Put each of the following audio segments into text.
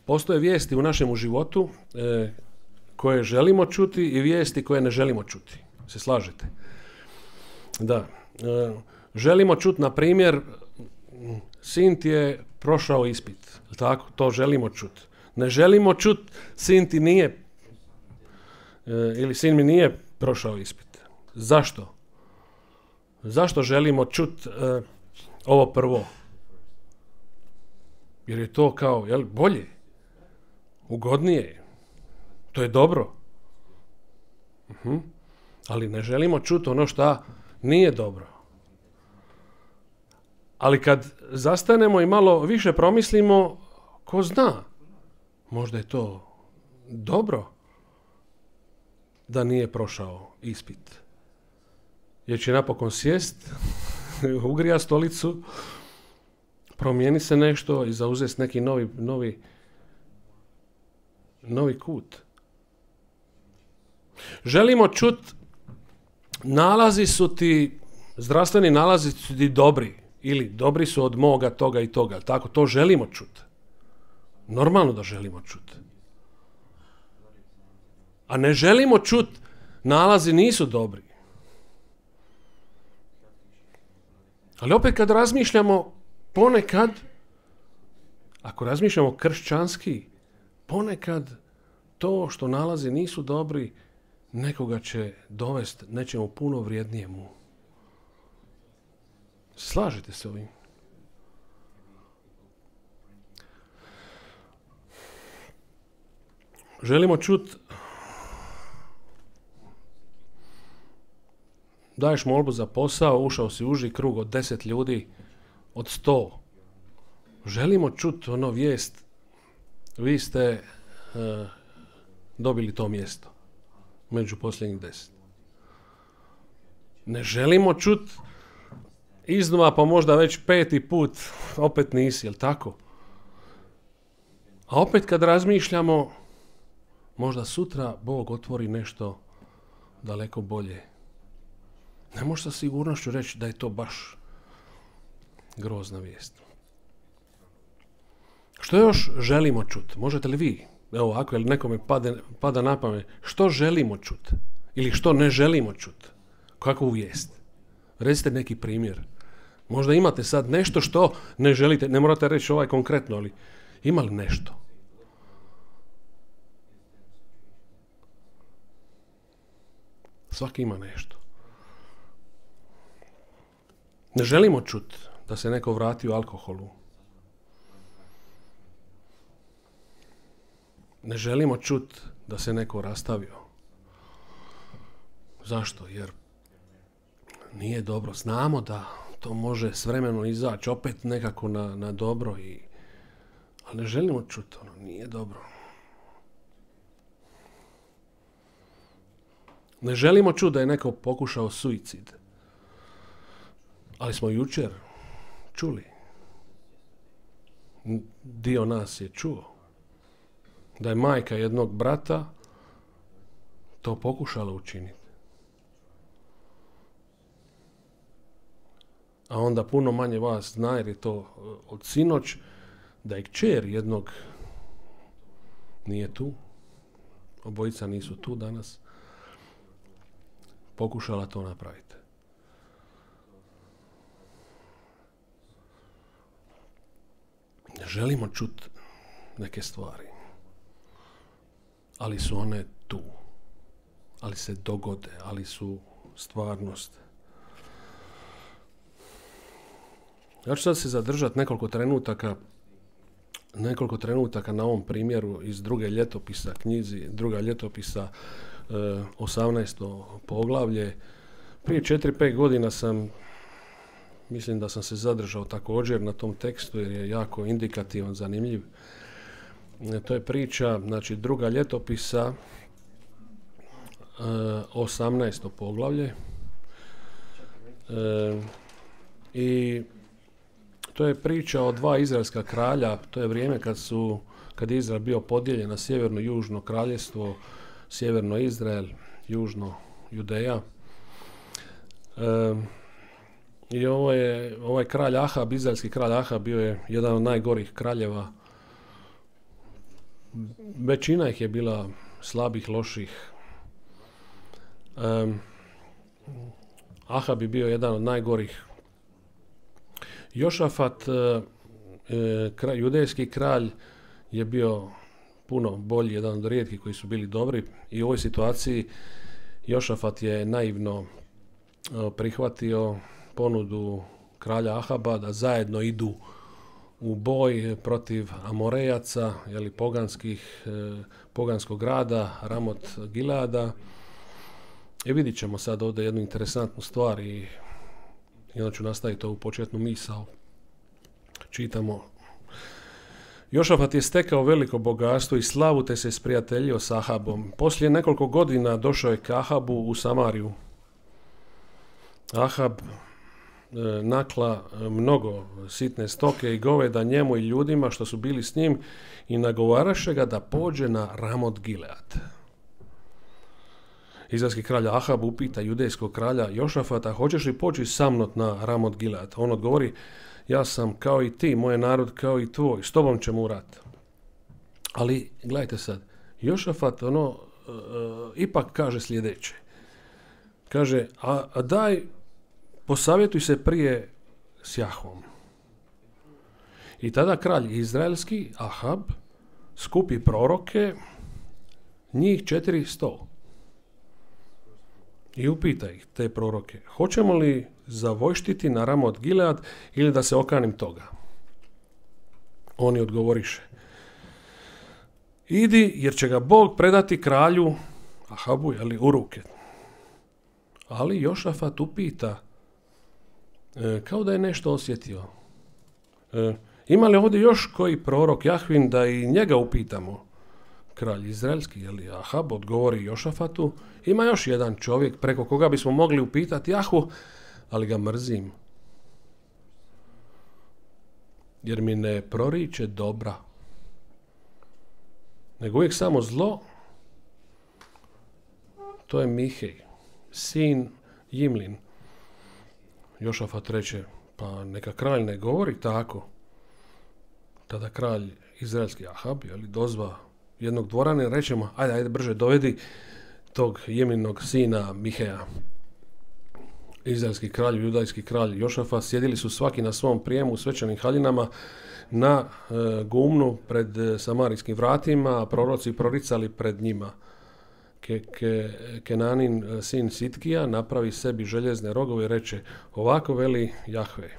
Postoje vijesti u našem životu koje želimo čuti i vijesti koje ne želimo čuti. Se slažete? Da. Želimo čuti, na primjer, sin ti je prošao ispit. Tako, to želimo čuti. Ne želimo čuti, sin ti nije ili sin mi nije prošao ispit. Zašto? Zašto želimo čuti ovo prvo? Jer je to kao, bolje, ugodnije, to je dobro. Ali ne želimo čuti ono što nije dobro. Ali kad zastanemo i malo više promislimo, ko zna, možda je to dobro da nije prošao ispit. Jer će napokon sjest, ugrija stolicu, promijeni se nešto i zauzeti neki novi kut. Želimo čuti, zdravstveni nalazi su ti dobri ili dobri su od moga toga i toga. Tako, to želimo čuti. Normalno da želimo čuti. A ne želimo čuti, nalazi nisu dobri. Ali opet kad razmišljamo, ponekad, ako razmišljamo kršćanski, ponekad to što nalazi nisu dobri, nekoga će dovesti nečemu puno vrijednijemu. Slažete se ovim? Želimo čuti, daješ molbu za posao, ušao si u uži krug od 10 ljudi, od 100. Želimo čuti vijest, vi ste dobili to mjesto među posljednjih 10. Ne želimo čuti iznova, pa možda već 5. put opet nisi, jel tako? A opet kad razmišljamo, možda sutra Bog otvori nešto daleko bolje. Ne možeš sa sigurnošću reći da je to baš grozna vijest. Što još želimo čuti? Možete li vi, evo ako je nekome pada na pamet, što želimo čuti? Ili što ne želimo čuti? Kakvu vijest? Recite neki primjer. Možda imate sad nešto što ne želite, ne morate reći konkretno, ali ima li nešto? Svaki ima nešto. Ne želimo čuti da se neko vrati u alkoholu. Ne želimo čuti da se neko rastavio. Zašto? Jer nije dobro. Znamo da to može s vremenom izaći opet nekako na dobro, ali ne želimo čuti, nije dobro. Ne želimo čuti da je neko pokušao suicid. Ali smo jučer čuli, dio nas je čuo, da je majka jednog brata to pokušala učiniti. A onda puno manje vas zna, jer je to od sinoć, da je kćer jednog, nije tu, obojica nisu tu danas, pokušala to napraviti. Ne želimo čuti neke stvari, ali su one tu, ali se dogode, ali su stvarnost. Ja ću sad se zadržati nekoliko trenutaka na ovom primjeru iz druge ljetopisa, knjizi druga ljetopisa, 18. poglavlje. Prije 4-5 godina mislim da sam se zadržao također na tom tekstu jer je jako indikativan, zanimljiv. To je priča, znači druga ljetopisa, 18. poglavlje. I to je priča o dva izraelska kralja. To je vrijeme kad je Izrael bio podijeljen na sjeverno i južno kraljevstvo, sjeverno Izrael, južno Judeja. I ovaj kralj Ahab, izraelski kralj Ahab, bio je jedan od najgorih kraljeva većina ih je bila slabih, loših. Ahab je bio jedan od najgorih. Jošafat, judejski kralj, je bio puno bolji, jedan od rijetkih koji su bili dobri, i u ovoj situaciji Jošafat je naivno prihvatio ponudu kralja Ahaba da zajedno idu u boj protiv Amorejaca, poganskog grada Ramot Gileada. I vidit ćemo sad ovdje jednu interesantnu stvar i onda ću nastaviti ovu početnu misao. Čitamo: Jošafat je stekao veliko bogatstvo i slavu, te se sprijateljio s Ahabom. Poslije nekoliko godina došao je k Ahabu u Samariju. Ahab nakla mnogo sitne stoke i goveda njemu i ljudima što su bili s njim i nagovaraše ga da pođe na Ramot Gilead. Izraelski kralj Ahab upita judejskog kralja Jošafata: hoćeš li poći sa mnom na Ramot Gilead? On odgovori: ja sam kao i ti, moj narod kao i tvoj, s tobom ćemo u rat. Ali gledajte sad, Jošafat ipak kaže sljedeće. Kaže: a daj, posavjetuj se prije s Jahvom. I tada kralj izraelski Ahab skupi proroke, njih 400, i upita ih, te proroke: hoćemo li zavojštiti na Ramot Gilead ili da se okanim toga? Oni odgovoriše: idi, jer će ga Bog predati kralju Ahabu, u ruke. Ali Jošafat upita, kao da je nešto osjetio: ima li ovdje još koji prorok Jahvin da i njega upitamo? Kralj izraelski, Ahab, odgovori Jošafatu: ima još jedan čovjek preko koga bismo mogli upitati Jahvu, ali ga mrzim, jer mi ne proriče dobra, nego uvijek samo zlo. To je Mihej, sin Jimlin. Jošafat reče: pa neka kralj ne govori tako. Tada kralj izraelski Ahab dozva jednog dvorana i reče mu: ajde brže dovedi tog Jimlinog sina Miheja. Izraelski kralj, judajski kralj Jošafat sjedili su svaki na svom prijemu u svečanim haljinama na gumnu pred samarijskim vratima, a proroci proricali pred njima. Kenanin, sin Sitkija, napravi sebi željezne rogove i reče: ovako veli Jahve,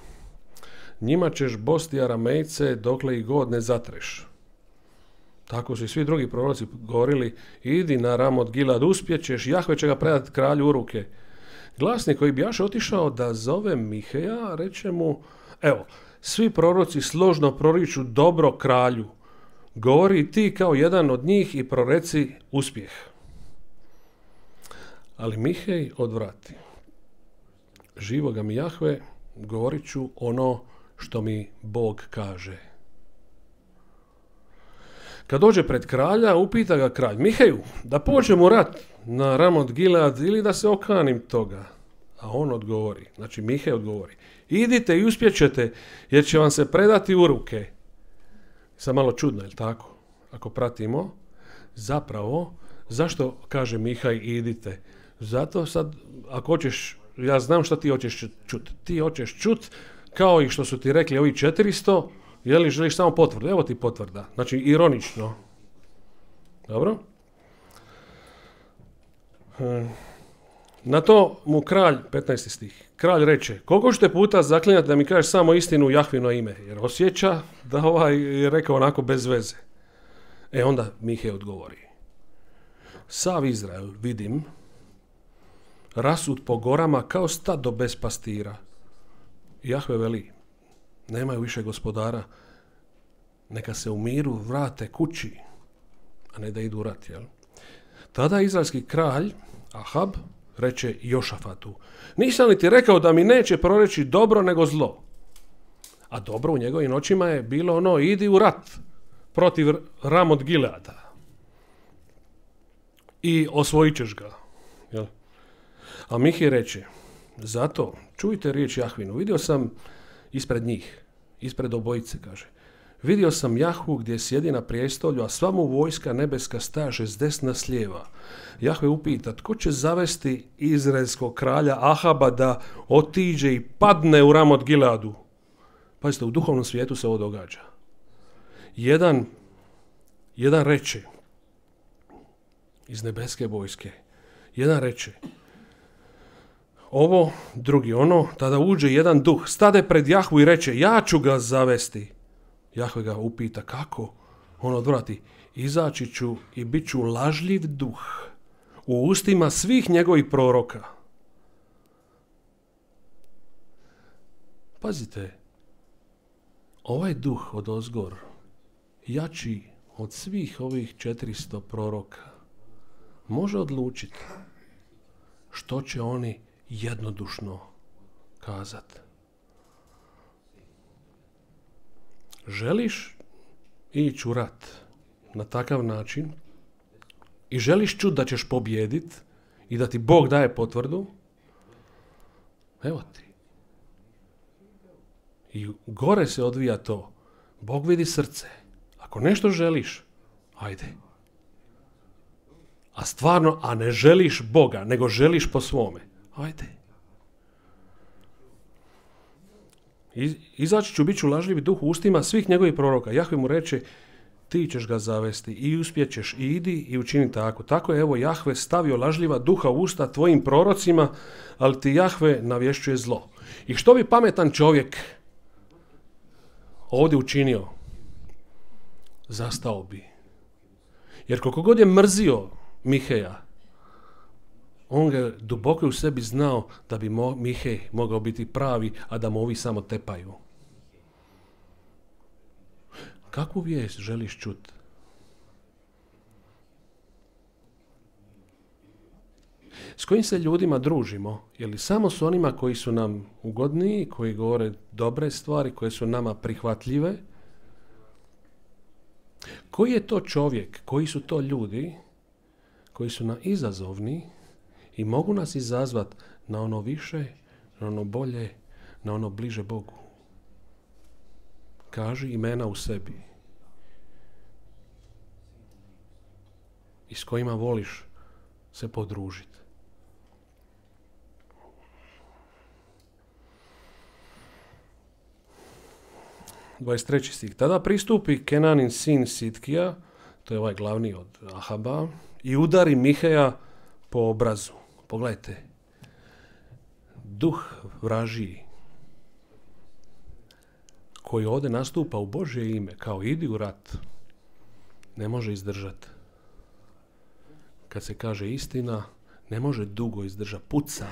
njima ćeš bosti Aramejce dokle ih god ne zatreš. Tako su i svi drugi proroci govorili: idi na Ramot Gilead, uspjećeš, Jahve će ga predati kralju u ruke. Glasnik koji bi jaše otišao da zove Miheja, reče mu: evo, svi proroci složno proriču dobro kralju, govori ti kao jedan od njih i proreci uspjeh. Ali Mihej odvrati: živoga mi Jahve, govorit ću ono što mi Bog kaže. Kad dođe pred kralja, upita ga kralj: Miheju, da pođemo u rat na Ramot Gilead ili da se okanim toga? A on odgovori, Mihej odgovori: idite i uspjećete, jer će vam se predati u ruke. Sad malo čudno, jel tako? Ako pratimo, zapravo, zašto kaže Mihaj idite? Zato sad, ako hoćeš, ja znam šta ti hoćeš čuti. Ti hoćeš čuti, kao i što su ti rekli ovi 400, želiš samo potvrdu? Evo ti potvrda. Ironično. Dobro? Na to mu kralj, 15. stih, kralj reče: koliko ćete puta zaklinjati da mi kažeš samo istinu u Jahvino ime? Jer osjeća da je rekao onako bez veze. Onda Mihej odgovori: sav Izrael, vidim, rasut po gorama kao stado bez pastira. Jahve veli: nemaju više gospodara, neka se u miru vrate kući, a ne da idu u rat. Tada izraelski kralj Ahab reče Jošafatu: nisam li ti rekao da mi neće proreći dobro nego zlo? A dobro u njegovim očima je bilo idi u rat protiv Ramot Gileada i osvojit ćeš ga. A Mihej reče: zato čujte riječ Jahvinu, vidio sam ispred njih, ispred obojice, kaže, Vidio sam Jahvu gdje sjedi na prijestolju, a sva mu vojska nebeska staže s desna s lijeva. Jahve upita, tko će zavesti izraelskog kralja Ahaba da otiđe i padne u Ramot Gileadu? Pazite, u duhovnom svijetu se ovo događa. Jedan reče iz nebeske vojske, jedan reče ovo, drugi ono, tada uđe jedan duh, stade pred Jahvu i reče, ja ću ga zavesti. Jahve ga upita, kako? On odvrati, izaći ću i bit ću lažljiv duh u ustima svih njegovih proroka. Pazite, ovaj duh od ozgor, jači od svih ovih 400 proroka, može odlučiti što će oni jednodušno kazati. Želiš ići u rat na takav način i želiš čuti da ćeš pobijediti i da ti Bog daje potvrdu, evo ti. I gore se odvija to. Bog vidi srce. Ako nešto želiš, ajde. A stvarno, a ne želiš Boga, nego želiš po svome, ajde. Izaći ću, bit ću lažljivi duh u ustima svih njegovih proroka. Jahve mu reče, ti ćeš ga zavesti i uspjećeš i idi i učini tako. Tako je, evo, Jahve stavio lažljiva duha u usta tvojim prorocima, ali ti Jahve navješćuje zlo. I što bi pametan čovjek ovdje učinio? Zastao bi. Jer koliko god je mrzio Miheja, on ga duboko u sebi znao da bi Mihej mogao biti pravi, a da mu ovi samo tepaju. Kakvu vijest želiš čuti? S kojim se ljudima družimo? Je li samo s onima koji su nam ugodniji, koji govore dobre stvari, koje su nama prihvatljive? Koji je to čovjek, koji su to ljudi koji su nam izazovni i mogu nas izazvati na ono više, na ono bolje, na ono bliže Bogu? Kaži imena u sebi. I s kojima voliš se podružiti. (23. stih). Tada pristupi Kenanin sin Sitkija, to je ovaj glavni od Ahaba, i udari Miheja po obrazu. Pogledajte, duh vražiji koji ovdje nastupa u Božje ime, kao idi u rat, ne može izdržati. Kad se kaže istina, ne može dugo izdržati, puca,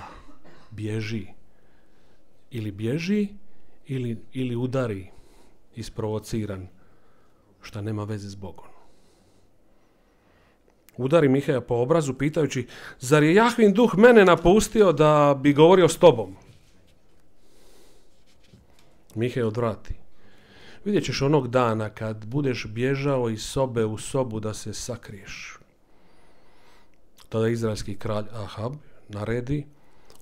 bježi. Ili bježi, ili udari, isprovociran, šta nema veze s Bogom. Udari Miheja po obrazu pitajući, zar je Jahvin duh mene napustio da bi govorio s tobom? Mihej odvrati. Vidjet ćeš onog dana kad budeš bježao iz sobe u sobu da se sakriješ. Tada izraelski kralj Ahab naredi,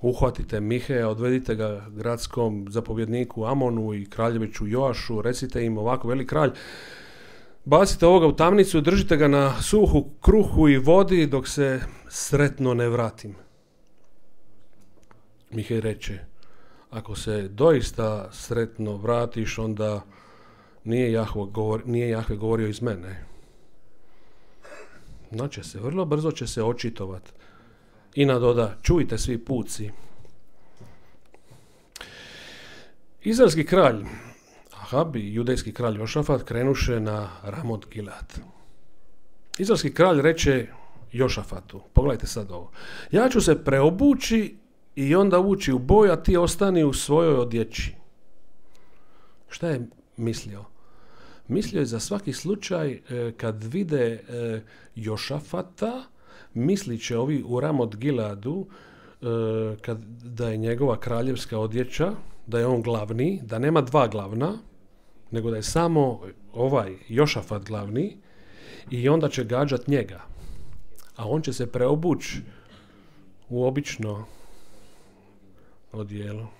uhvatite Miheja, odvedite ga gradskom zapovjedniku Amonu i kraljeviću Joašu, recite im ovako, veli kralj, bacite ovoga u tamnicu, držite ga na suhu kruhu i vodi dok se sretno ne vratim. Mihej reče, ako se doista sretno vratiš, onda nije Jahve govorio iz mene. Znači se, vrlo brzo će se očitovat. I nadoda, čujte svi puci. Izraelski kralj Ahab i judejski kralj Jošafat krenuše na Ramot Gilead. Izraelski kralj reče Jošafatu, pogledajte sad ovo, ja ću se preobući i onda ući u boj, a ti ostani u svojoj odjeći. Šta je mislio? Mislio je za svaki slučaj kad vide Jošafata, mislit će ovi u Ramot Gileadu da je njegova kraljevska odjeća, da je on glavni, da nema dva glavna, nego da je samo ovaj Jošafat glavni i onda će gađat njega. A on će se preobući u obično odijelo.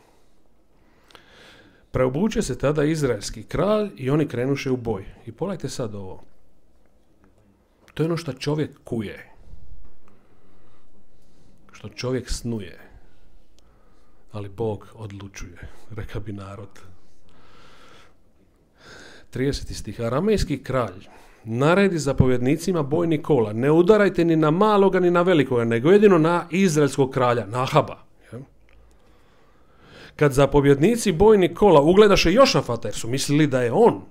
Preobuče se tada izraelski kralj i oni krenuše u boj. I pogledajte sad ovo. To je ono što čovjek kuje. Što čovjek snuje. Ali Bog odlučuje, reka bi narod. 30. stih. Aramejski kralj naredi zapovjednicima bojnih kola: ne udarajte ni na maloga ni na velikoga, nego jedino na izraelskog kralja, na Ahaba. Kad zapovjednici bojnih kola ugledaše Jošafata, jer su mislili da je on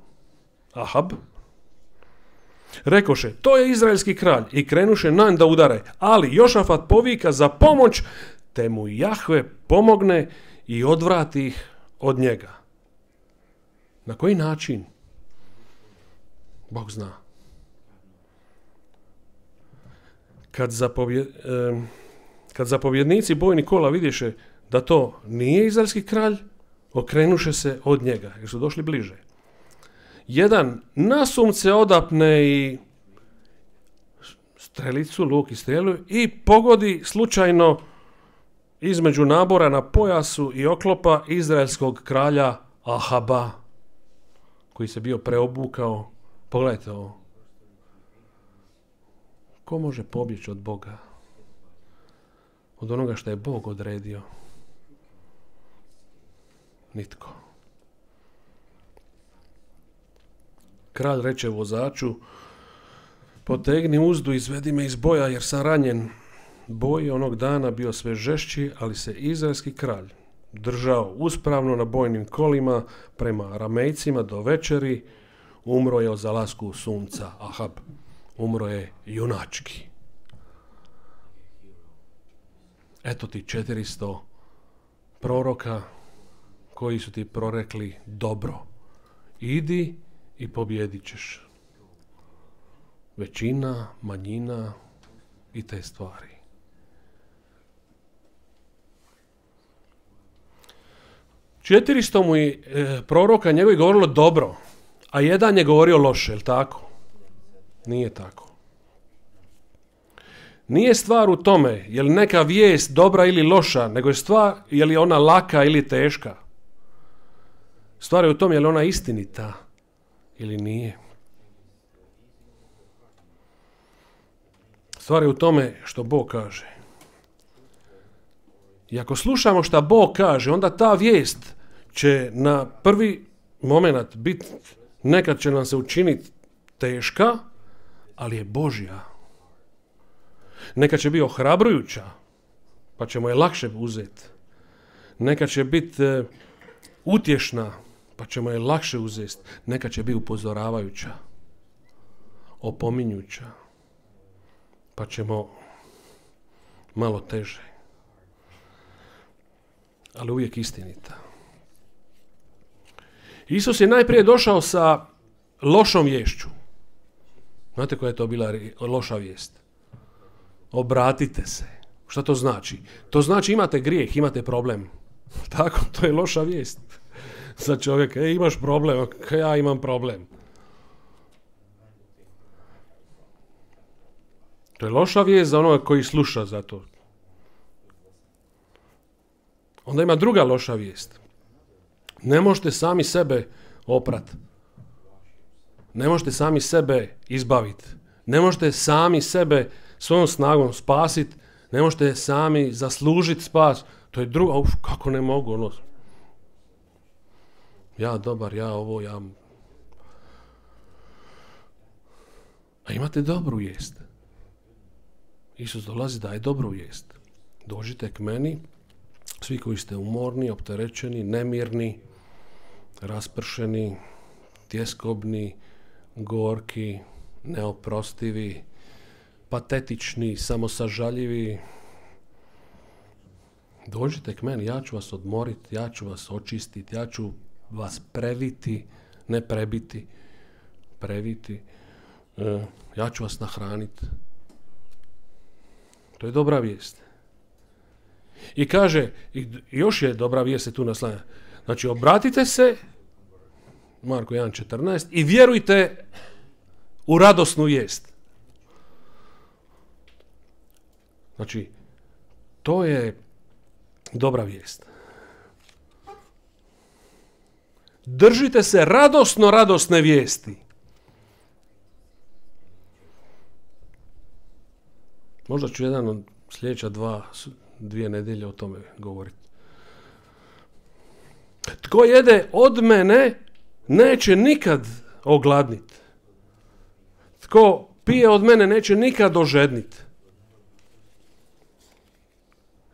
Ahab, rekoše: to je izraelski kralj, i krenuše na da udare. Ali Jošafat povika za pomoć, te mu Jahve pomogne i odvrati ih od njega. Na koji način? Bog zna. Kad zapovjednici bojnih kola vidiše da to nije izraelski kralj, okrenuše se od njega, jer su došli bliže. Jedan nasumce odapne i strelicu, luk i strelu, i pogodi slučajno između nabora na pojasu i oklopa izraelskog kralja Ahaba, koji se bio preobukao. Pogledajte ovo. Ko može pobjeći od Boga? Od onoga što je Bog odredio? Nitko. Kralj reče vozaču: potegni uzdu, izvedi me iz boja, jer sam ranjen. Boj onog dana bio sve žešći, ali se izraelski kralj držao uspravno na bojnim kolima prema Aramejcima do večeri. Umro je od zalasku sunca. Ahab umro je junački. Eto ti 400 proroka koji su ti prorekli dobro. Idi i pobjedit ćeš. Većina, manjina i te stvari. Četiristo mu je proroka njegovi govorilo dobro, a jedan je govorio loše, je li tako? Nije tako. Nije stvar u tome je li neka vijest dobra ili loša, nego je stvar je li ona laka ili teška. Stvar je u tome je li ona istinita ili nije. Stvar je u tome što Bog kaže. I ako slušamo što Bog kaže, onda ta vijest će na prvi moment biti, nekad će nam se učiniti teška, ali je Božja. Nekad će biti ohrabrujuća, pa ćemo je lakše uzeti. Nekad će biti utješna, pa ćemo je lakše uzeti. Nekad će biti upozoravajuća, opominjuća, pa ćemo malo teže. Ali uvijek istinita. Isus je najprije došao sa lošom viješću. Znate koja je to bila loša vijest? Obratite se. Šta to znači? To znači imate grijeh, imate problem. Tako, to je loša vijest za čovjeka. Imaš problem, ja imam problem. To je loša vijest za onoga koji sluša za to. Onda ima druga loša vijest. Ne možete sami sebe oprat. Ne možete sami sebe izbaviti. Ne možete sami sebe svojom snagom spasiti. Ne možete sami zaslužiti spas. To je druga. Kako ne mogu? Ono. Ja dobar, ja ovo, ja... A imate dobru vijest. Isus dolazi daje dobru vijest. Dođite k meni, svi koji ste umorni, opterećeni, nemirni, raspršeni, tjeskobni, gorki, neoprostivi, patetični, samosažaljivi. Dođite k meni, ja ću vas odmoriti, ja ću vas očistiti, ja ću vas previti, ne prebiti, previti, ja ću vas nahraniti. To je dobra vijest. I kaže, još je dobra vijest se tu naslanja. Znači, obratite se, Marko 1.14, i vjerujte u radosnu vijest. Znači, to je dobra vijest. Držite se radosne vijesti. Možda ću jedan od sljedeća dvije nedjelje o tome govoriti. Tko jede od mene, neće nikad ogladniti. Tko pije od mene, neće nikad ožedniti.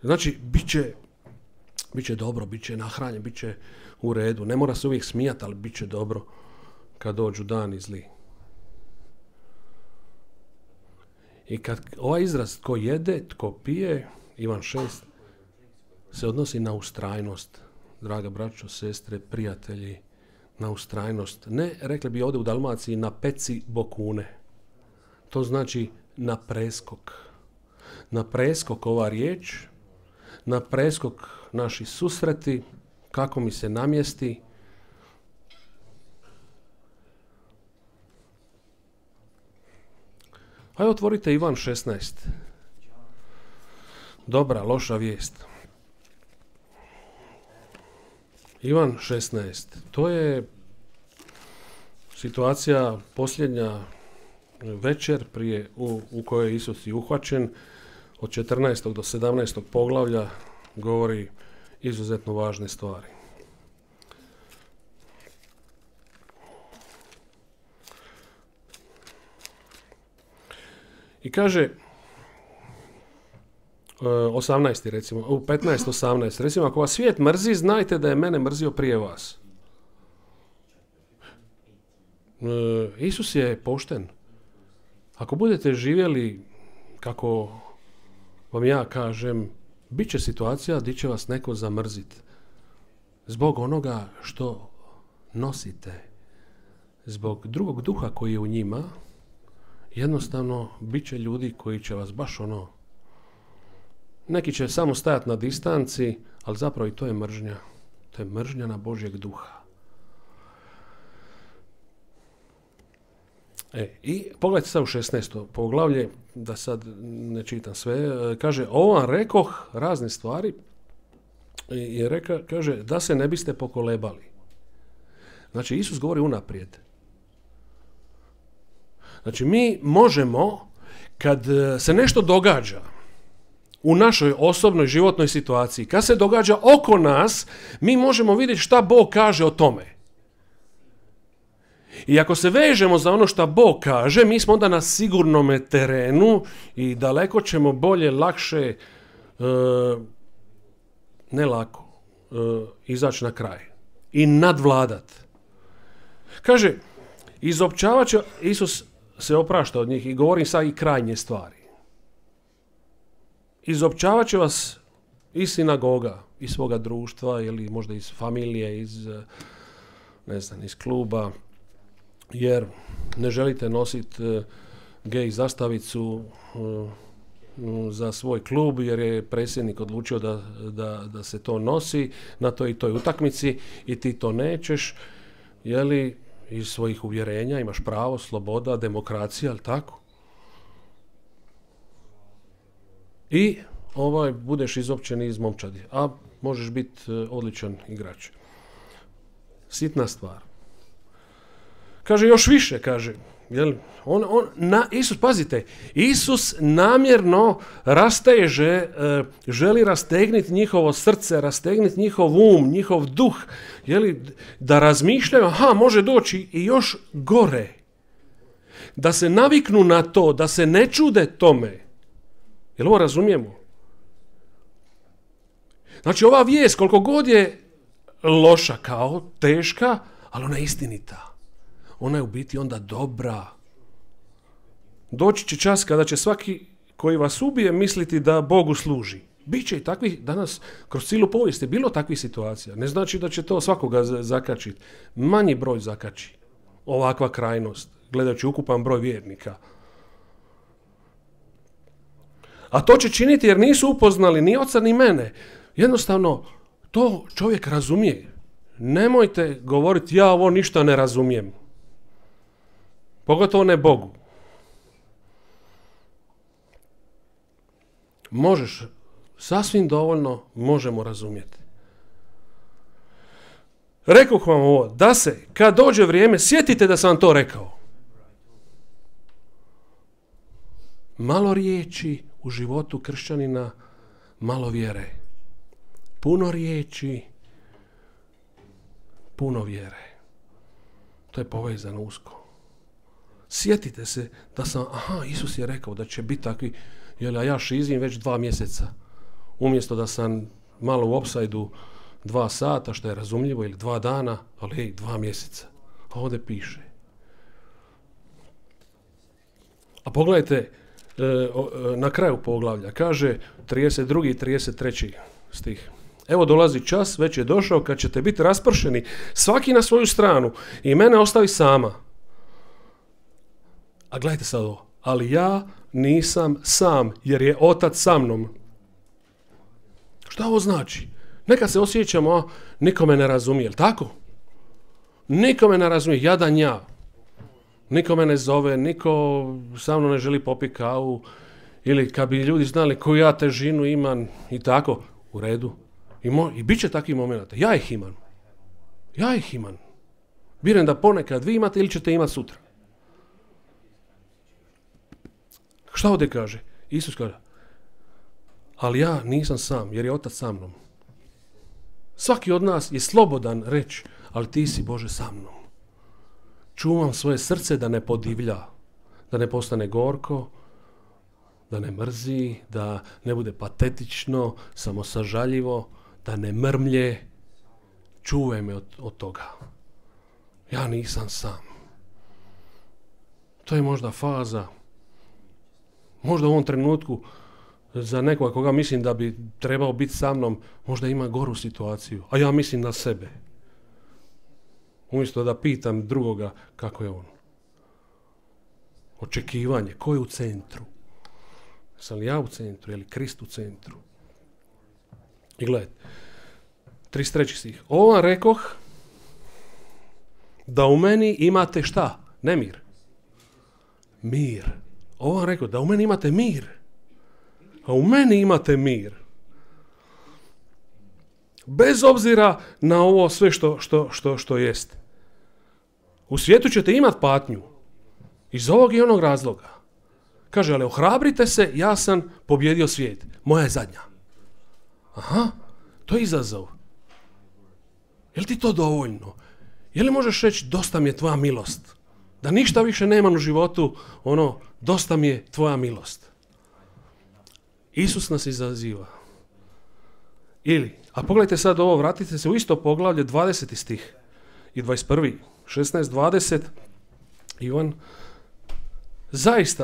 Znači, bit će dobro, bit će nahranjen, bit će u redu. Ne mora se uvijek smijati, ali bit će dobro kad dođu dani zli. I kad ovaj izraz tko jede, tko pije, Ivan 6, se odnosi na ustrajnost. Draga braćo, sestre, prijatelji, na ustrajnost. Ne, rekli bi ovdje u Dalmaciji, na peci bokune. To znači na preskok. Na preskok ova riječ, na preskok naši susreti, kako mi se namjesti. Ajde, otvorite Ivan 16. Dobra, loša vijest. Ivan 16. To je situacija posljednja večer u kojoj je Isus i uhvaćen. Od 14. do 17. poglavlja govori izuzetno važne stvari. I kaže 18. recimo, 15-18. Recimo, ako vas svijet mrzi, znajte da je mene mrzio prije vas. Isus je pošten. Ako budete živjeli kako vam ja kažem, bit će situacija gdje će vas neko zamrziti. Zbog onoga što nosite. Zbog drugog duha koji je u njima, jednostavno bit će ljudi koji će vas baš neki će samo stajati na distanci, ali zapravo i to je mržnja. To je mržnja na Božjeg duha. I pogledajte sad u 16. poglavlje, da sad ne čitam sve, kaže, ovo vam rekoh razne stvari i kaže, da se ne biste pokolebali. Znači, Isus govori unaprijed. Znači, mi možemo, kad se nešto događa u našoj osobnoj životnoj situaciji, kad se događa oko nas, mi možemo vidjeti šta Bog kaže o tome. I ako se vežemo za ono što Bog kaže, mi smo onda na sigurnome terenu i daleko ćemo bolje, lakše, ne lako, izaći na kraj i nadvladat. Kaže, izopćavat će, Isus se oprašta od njih i govori sad i krajnje stvari. Izopćavat će vas iz sinagoga, iz svoga društva ili možda iz familije, iz kluba, jer ne želite nositi gej zastavicu za svoj klub, jer je predsjednik odlučio da se to nosi na toj i toj utakmici i ti to nećeš, jeli, iz svojih uvjerenja, imaš pravo, sloboda, demokracija, ali tako? I budeš izopćen iz momčadi, a možeš biti odličan igrač. Sitna stvar. Kaže, još više, kaže. Isus, pazite, Isus namjerno rasteže, želi rastegniti njihovo srce, rastegniti njihov um, njihov duh, da razmišljaju, može doći i još gore. Da se naviknu na to, da se ne čude tome. Jel ovo razumijemo? Znači, ova vijest, koliko god je loša, kao teška, ali ona je istinita. Ona je u biti onda dobra. Doći će čas kada će svaki koji vas ubije misliti da Bogu služi. Biće i takvih, danas kroz cijelu povijest je bilo takvih situacija. Ne znači da će to svakoga zakačiti. Manji broj zakači. Ovakva krajnost, gledajući ukupan broj vjernika. A to će činiti jer nisu upoznali ni oca ni mene. Jednostavno, to čovjek razumije. Nemojte govoriti, ja ovo ništa ne razumijem. Pogotovo ne Bogu. Sasvim dovoljno možemo razumjeti. Rekoh vam ovo, da se, kad dođe vrijeme, sjetite da sam vam to rekao. Malo riječi u životu kršćanina, malo vjere. Puno riječi, puno vjere. To je povezano usko. Sjetite se da sam, Isus je rekao da će biti takvi, a ja šizim već 2 mjeseca. Umjesto da sam malo u opsajdu 2 sata, što je razumljivo, ili 2 dana, ali 2 mjeseca. A ovdje piše. A pogledajte, na kraju poglavlja, kaže 32. i 33. stih. Evo dolazi čas, već je došao, kad ćete biti raspršeni, svaki na svoju stranu, i mene ostavi sama. A gledajte sad ovo. Ali ja nisam sam, jer je Otac sa mnom. Šta ovo znači? Nekad se osjećamo, niko me ne razumije, jel tako? Niko me ne razumije, jadan ja. Niko me ne zove, niko sa mnom ne želi popiti kavu, ili kad bi ljudi znali koju ja težinu imam i tako, u redu. I bit će takvih momenata. Ja ih imam. Vjerujem da ponekad vi imate ili ćete imati sutra. Šta ovdje kaže? Isus kaže, ali ja nisam sam, jer je Otac sa mnom. Svaki od nas je slobodan reći, ali ti si, Bože, sa mnom. Čuvam svoje srce da ne podivlja, da ne postane gorko, da ne mrzi, da ne bude patetično, samo sažaljivo, da ne mrmlje. Čuvaj me od toga. Ja nisam sam. To je možda faza, možda u ovom trenutku za nekoga koga mislim da bi trebao biti sa mnom, možda ima goru situaciju, a ja mislim na sebe. Umjesto da pitam drugoga kako je on. Očekivanje, ko je u centru? Sam li ja u centru, je li Krist u centru? I gledajte, 33. stih. Ovo vam rekoh da u meni imate šta? Nemir. Mir. Ovo vam rekoh da u meni imate mir. A u meni imate mir. Bez obzira na ovo sve što jest. U svijetu ćete imati patnju. Iz ovog i onog razloga. Kaže, ali ohrabrite se, ja sam pobjedio svijet. Moja je zadnja. Aha, to je izazov. Je li ti to dovoljno? Je li možeš reći, dosta mi je tvoja milost? Da ništa više nemam u životu, dosta mi je tvoja milost. Isus nas izaziva. Ili, a pogledajte sad ovo, vratite se u isto poglavlje, 20. stih i 21. 16-20. Ivan,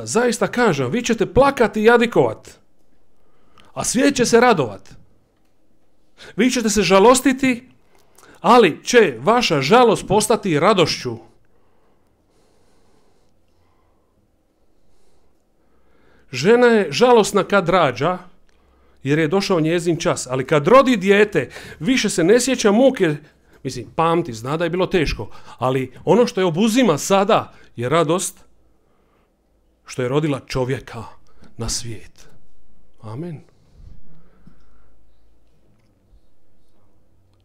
zaista kažem, vi ćete plakati i jadikovat, a svijet će se radovat. Vi ćete se žalostiti, ali će vaša žalost postati radošću. Žena je žalosna kad rađa, jer je došao njezin čas, ali kad rodi dijete, više se ne sjeća muke, pamti, zna da je bilo teško, ali ono što je obuzima sada je radost što je rodila čovjeka na svijet. Amen.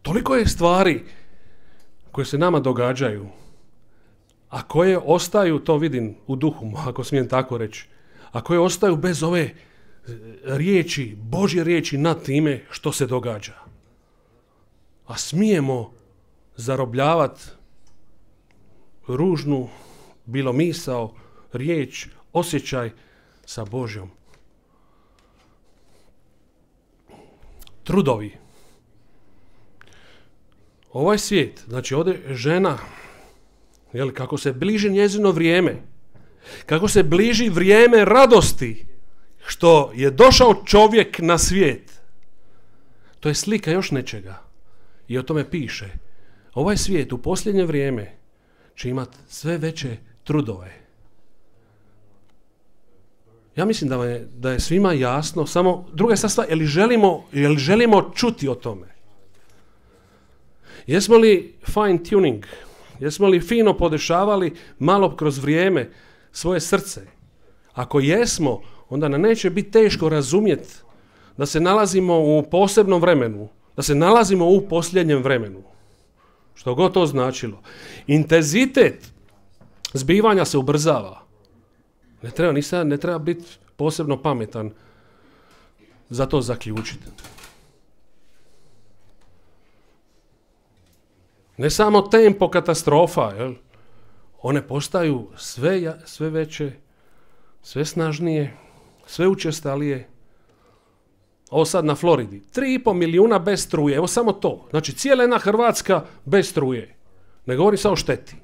Toliko je stvari koje se nama događaju, a koje ostaju, to vidim u duhu, ako smijem tako reći, a koje ostaju bez ove riječi, Božje riječi nad time što se događa. A smijemo zarobljavati ružnu, bilo misao, riječ, osjećaj sa Božjom. Trudovi. Ovaj svijet, znači ovdje žena, kako se bliži njezino vrijeme, kako se bliži vrijeme radosti, što je došao čovjek na svijet, to je slika još nečega. I o tome piše. Ovaj svijet u posljednje vrijeme će imati sve veće trudove. Ja mislim da je svima jasno, samo druga je stvar, je li želimo čuti o tome? Jesmo li fine tuning? Jesmo li fino podešavali malo kroz vrijeme svoje srce? Ako jesmo, onda nam neće biti teško razumjeti da se nalazimo u posebnom vremenu, da se nalazimo u posljednjem vremenu. Što god to značilo. Intenzitet zbivanja se ubrzava. Ne treba biti posebno pametan za to zaključiti. Ne samo tempo katastrofa, jel? One postaju sve veće, sve snažnije, sve učestalije. Ovo sad na Floridi. 3,5 milijuna bez struje. Evo samo to. Znači cijela jedna Hrvatska bez struje. Ne govorim samo o šteti.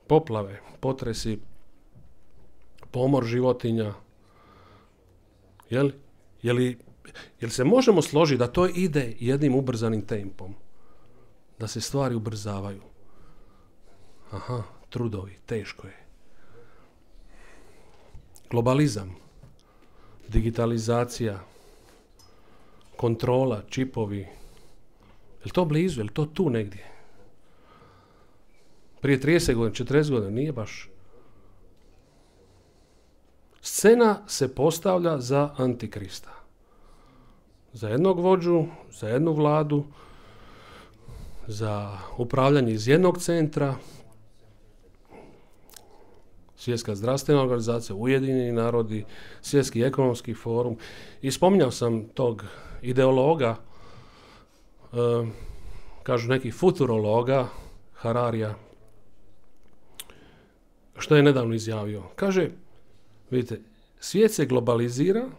Poplave, potresi, pomor životinja. Jel se možemo složiti da to ide jednim ubrzanim tempom? Da se stvari ubrzavaju? Aha, trudovi, teško je. Globalizam, digitalizacija, kontrola, čipovi. Je li to blizu? Je li to tu negdje? Prije 30 godina, 40 godina, nije baš. Scena se postavlja za Antikrista. Za jednog vođu, za jednu vladu, za upravljanje iz jednog centra, Svjetska zdravstvena organizacija, Ujedinjeni narodi, Svjetski ekonomski forum. I spominjao sam tog ideologa, kažu neki futurologa, Hararija, što je nedavno izjavio. Kaže, vidite, svijet se globalizira,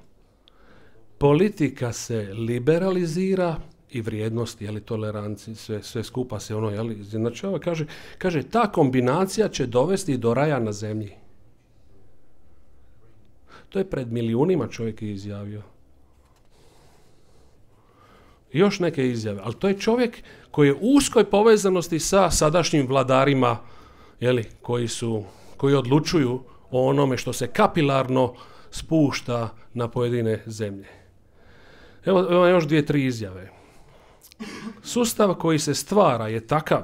politika se liberalizira i vrijednosti, jeli, toleranci, sve skupa se ono, jeli, izjednačava. Kaže, ta kombinacija će dovesti do raja na zemlji. To je pred milijunima čovjek je izjavio. I još neke izjave, ali to je čovjek koji je u uskoj povezanosti sa sadašnjim vladarima, jeli, koji odlučuju o onome što se kapilarno spušta na pojedine zemlje. Evo još 2-3 izjave. Sustav koji se stvara je takav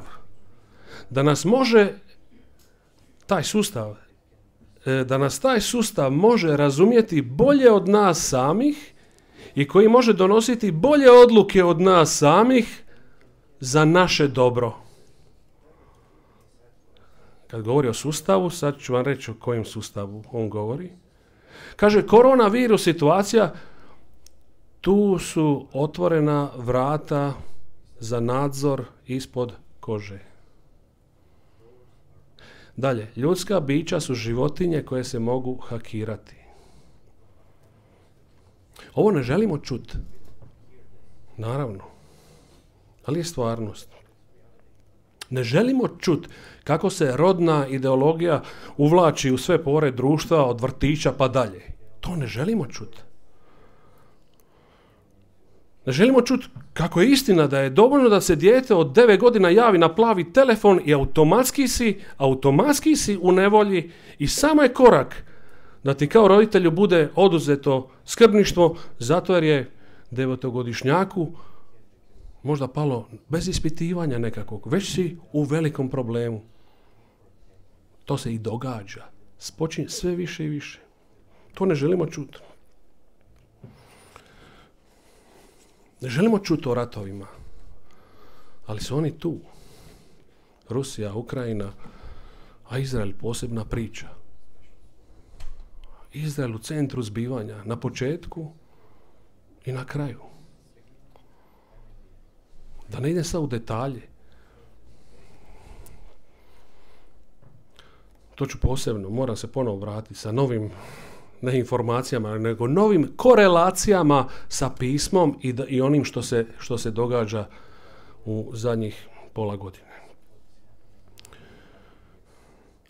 da nas taj sustav može razumjeti bolje od nas samih i koji može donositi bolje odluke od nas samih za naše dobro. Kad govori o sustavu, sad ću vam reći o kojem sustavu on govori. Kaže, koronavirus situacija, tu su otvorena vrata za nadzor ispod kože. Dalje, ljudska bića su životinje koje se mogu hakirati. Ovo ne želimo čuti. Naravno. Ali je stvarnost. Ne želimo čuti kako se rodna ideologija uvlači u sve pore društva od vrtića pa dalje. To ne želimo čuti. Ne želimo čuti kako je istina da je dovoljno da se dijete od 9 godina javi na plavi telefon i automatski si u nevolji i samo je korak da ti kao roditelju bude oduzeto skrbništvo zato jer je 9-godišnjaku možda palo bez ispitivanja nekakvog, već si u velikom problemu. To se i događa. Spočinje sve više i više. To ne želimo čuti. Ne želimo čuti o ratovima, ali su oni tu. Rusija, Ukrajina, a Izrael posebna priča. Izrael u centru zbivanja, na početku i na kraju. Da ne idem sad u detalje. To ću posebno, moram se ponovo vratiti sa novim, ne informacijama, nego novim korelacijama sa pismom i onim što se događa u zadnjih pola godine.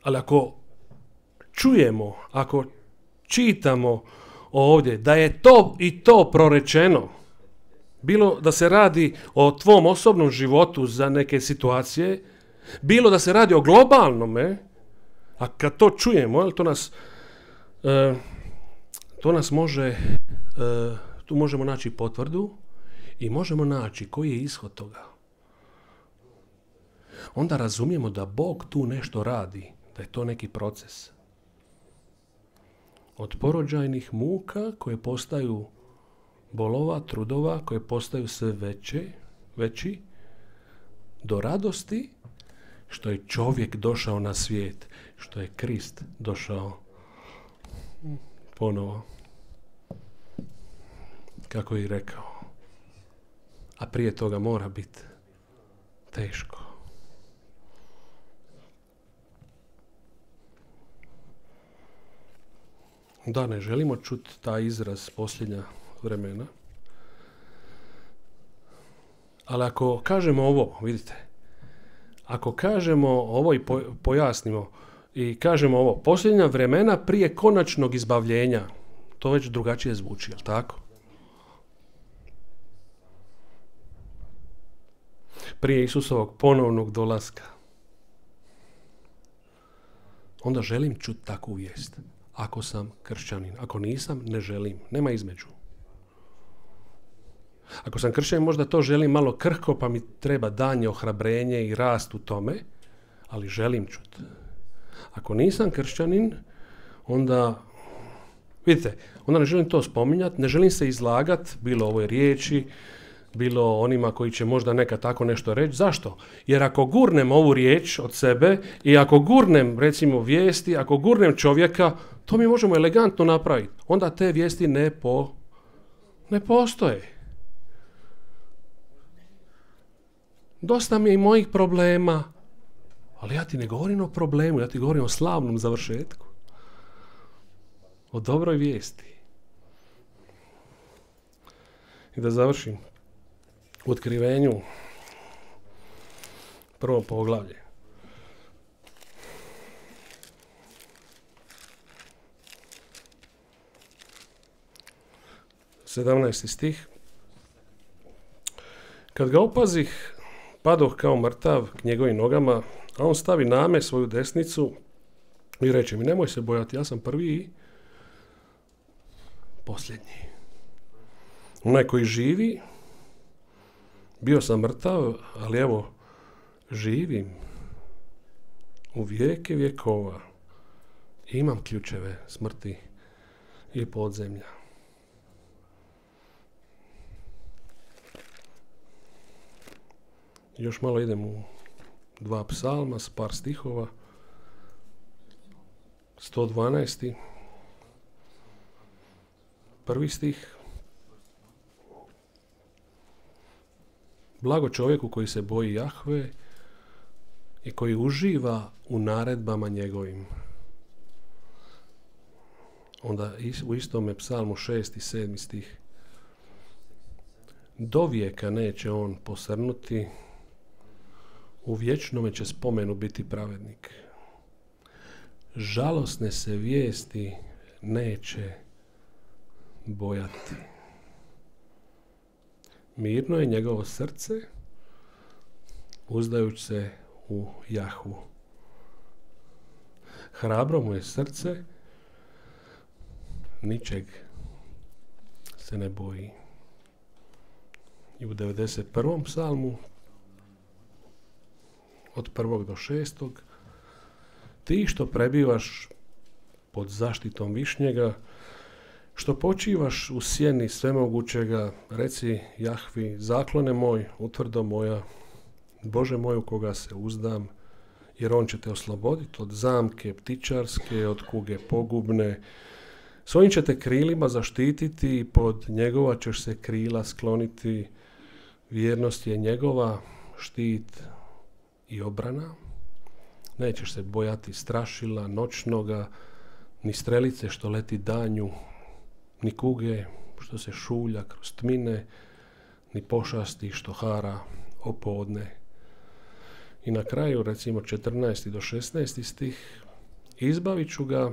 Ali ako čujemo, ako čitamo ovdje da je to i to prorečeno, bilo da se radi o tvom osobnom životu za neke situacije, bilo da se radi o globalnome, a kad to čujemo, to nas može, tu možemo naći potvrdu i možemo naći koji je ishod toga. Onda razumijemo da Bog tu nešto radi, da je to neki proces. Od porođajnih muka koje postaju bolova, trudova koje postaju sve veći, do radosti što je čovjek došao na svijet, što je Krist došao ponovo, kako je i rekao. A prije toga mora biti teško. Da, ne želimo čuti taj izraz posljednja vremena. Ali ako kažemo ovo, vidite, ako kažemo ovo i pojasnimo i kažemo ovo, posljednja vremena prije konačnog izbavljenja, to već drugačije zvuči, jel tako? Prije Isusovog ponovnog dolaska. Onda želim čuti takvu vijest. Ako sam kršćanin. Ako nisam, ne želim. Nema između. Ako sam kršćanin, možda to želim malo krhko, pa mi treba danje ohrabrenje i rast u tome, ali želim čuti. Ako nisam kršćanin, onda, vidite, onda ne želim to spominjati, ne želim se izlagati, bilo ovoj riječi, bilo onima koji će možda neka tako nešto reći. Zašto? Jer ako gurnem ovu riječ od sebe i ako gurnem, recimo, vijesti, ako gurnem čovjeka, to mi možemo elegantno napraviti. Onda te vijesti ne postoje. Dosta mi je i mojih problema, ali ja ti ne govorim o problemu, ja ti govorim o slavnom završetku. O dobroj vijesti. I da završim. U Otkrivenju, prvo poglavlje. Sedamnaesti stih. Kad ga opazih, padoh kao mrtav k njegovim nogama, a on stavi na me svoju desnicu i reče mi, nemoj se bojati, ja sam prvi i posljednji. Onaj koji živi, bio sam mrtav, ali evo, živim u vijeke vjekova. Imam ključeve smrti i podzemlja. Još malo idem u 2 psalma s par stihova. 112. Prvi stih. Blago čovjeku koji se boji Jahve i koji uživa u naredbama njegovim. Onda u istome psalmu 6. i 7. stih. Do vijeka neće on posrnuti, u vječnome će spomenu biti pravednik. Žalosne se vijesti neće bojati. Mirno je njegovo srce, uzdajući se u Jahvu. Hrabro mu je srce, ničeg se ne boji. I u 91. psalmu, od 1. do 6. Ti što prebivaš pod zaštitom Višnjega, što počivaš u sjeni svemogućega, reci Jahvi, zaklone moj, utvrdo moja, Bože moj u koga se uzdam, jer on će te osloboditi od zamke ptičarske, od kuge pogubne. Svojim će te krilima zaštititi i pod njegova ćeš se krila skloniti. Vjernost je njegova, štit i obrana. Nećeš se bojati strašila noćnoga, ni strelice što leti danju, ni kuge što se šulja kroz tmine, ni pošasti što hara opodne. I na kraju, recimo 14. do 16. stih, izbavit ću ga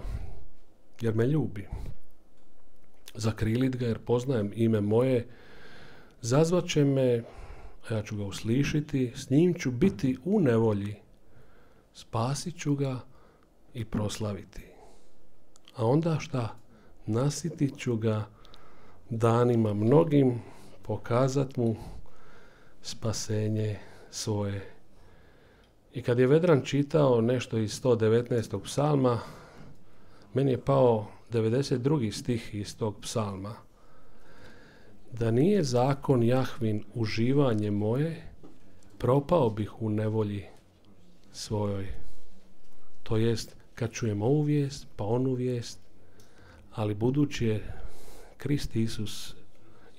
jer me ljubi. Zakrilit ga jer poznajem ime moje, zazvat će me, a ja ću ga uslišiti, s njim ću biti u nevolji, spasit ću ga i proslaviti. A onda šta? Nasitit ću ga danima mnogim, pokazat mu spasenje svoje. I kad je Vedran čitao nešto iz 119. psalma, meni je pao 92. stih iz tog psalma. da nije zakon Jahvin uživanje moje, propao bih u nevolji svojoj. To jest, kad čujem ovu vijest, pa onu vijest, ali budući je Krist Isus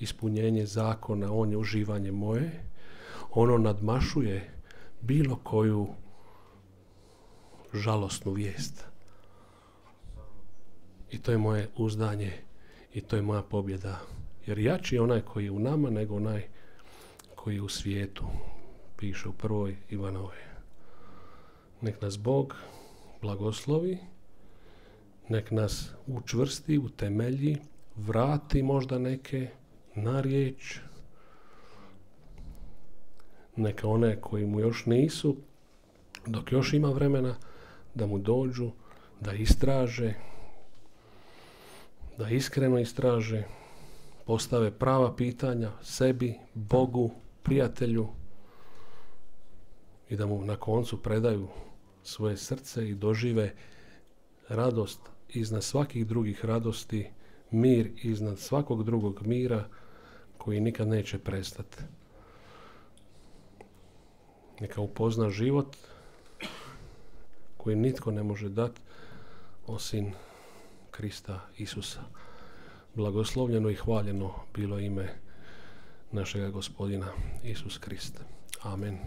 ispunjenje zakona, on je uživanje moje, ono nadmašuje bilo koju žalosnu vijest. I to je moje uzdanje i to je moja pobjeda. Jer jači je onaj koji je u nama nego onaj koji je u svijetu, piše u 1. Ivanovoj. Nek nas Bog blagoslovi, nek nas učvrsti, utemelji, vrati možda neke na riječ, neka one koji mu još nisu, dok još ima vremena, da mu dođu, da istraže, da iskreno istraže, postave prava pitanja sebi, Bogu, prijatelju i da mu na koncu predaju svoje srce i dožive radost iznad svakih drugih radosti, mir iznad svakog drugog mira koji nikad neće prestati. Neka upozna život koji nitko ne može dati osim Krista Isusa. Blagoslovljeno i hvaljeno bilo ime našega Gospodina Isus Krist. Amen.